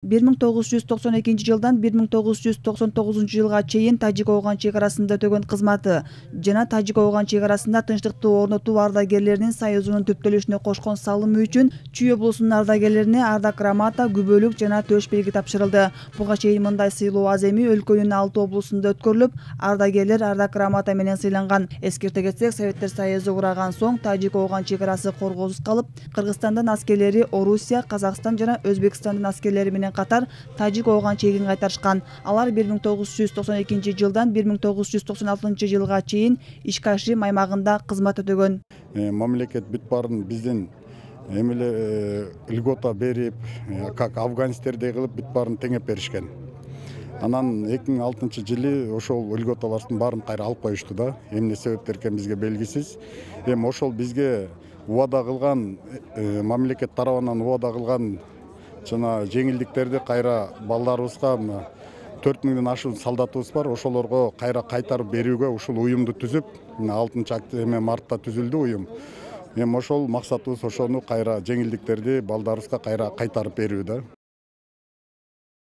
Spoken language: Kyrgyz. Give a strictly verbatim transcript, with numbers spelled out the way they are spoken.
бир миң тогуз жүз токсон экинчи жылдан бир миң тогуз жүз токсон тогузунчу жылга чейин Тажик-Ооган чек арасында өтөгөн кызматы жана Тажик-Ооган чек арасында тынчтыкты орнотуу ардагерлеринин союзунун түптөлүшүнө кошкон салымы үчүн Чүй облусунун ардагерлерине ардак грамота, күбөлүк жана төш белги тапшырылды. Буга чейин мындай сыйлоо аз эми өлкөнүн алты облусунда өткөрүлүп, ардагерлер ардак грамота менен сыйланган. Эскерте кетсек, Советтер Союзу кураган соң Тажик-Ооган чек арасы коргоосуз калып, Кыргызстандан аскерлери Орусия, Казакстан жана Өзбекстандын аскерлери менен катар Тажик-Ооган чегин кайтарышкан. Алар бир миң тогуз жүз токсон экинчи жылдан бир миң тогуз жүз токсон алтынчы жылга чейин Ишкашим аймагында кызмат өтөгөн. Мамлекет бүт баарын биздин эмеле льгота берип, как афганистердей кылып бүт баарын теңеп беришкен. Анан эки миң алтынчы жылы ошол льготалардын баарын кайра алып коюшту да. Эмне себептер экен бизге белгисиз. Эми ошол бизге убада кылган, мамлекет тарабынан убада кылган жана жеңилдиктерди кайра балдарыбызга төрт миңден ашуун солдатыбыз бар. Ошолорго кайра кайтарып берүүгө ушул уюмду түзүп, алтынчы мартта түзүлдү уюм. Эми ошол максатыбыз ошону кайра жеңилдиктерди балдарыбызга кайра кайтарып берүү да.